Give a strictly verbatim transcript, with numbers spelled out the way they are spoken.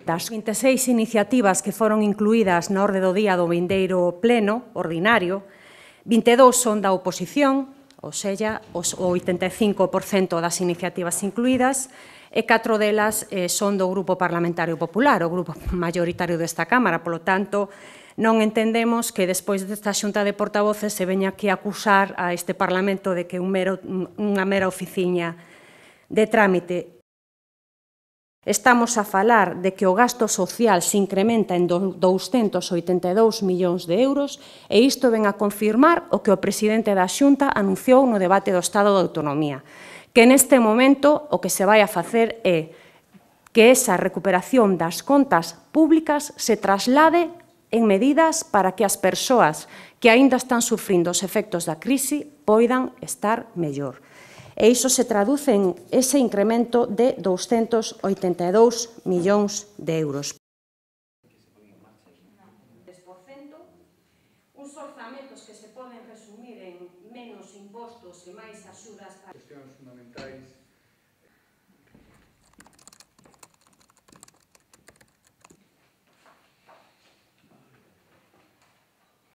Das vinte e seis iniciativas que foron incluídas na orde do día do vindeiro pleno ordinario, vinte e dous son da oposición, ou seja, o oitenta e cinco por cento das iniciativas incluídas, e catro delas eh, son do Grupo Parlamentario Popular, o grupo maioritario desta Cámara. Polo tanto, non entendemos que despois desta xunta de portavoces se veña aquí a acusar a este Parlamento de que é un mero, unha mera oficiña de trámite. Estamos a falar de que o gasto social se incrementa en douscentos oitenta e dous millóns de euros e isto ven a confirmar o que o presidente da Xunta anunciou no debate do Estado de Autonomía, que neste momento o que se vai a facer é que esa recuperación das contas públicas se traslade en medidas para que as persoas que aínda están sufrindo os efectos da crise poidan estar mellor. E iso se traduce en ese incremento de douscentos oitenta e dous millóns de euros. Uns orzamentos que se poden resumir en menos impostos e máis axudas para... Cuestións fundamentais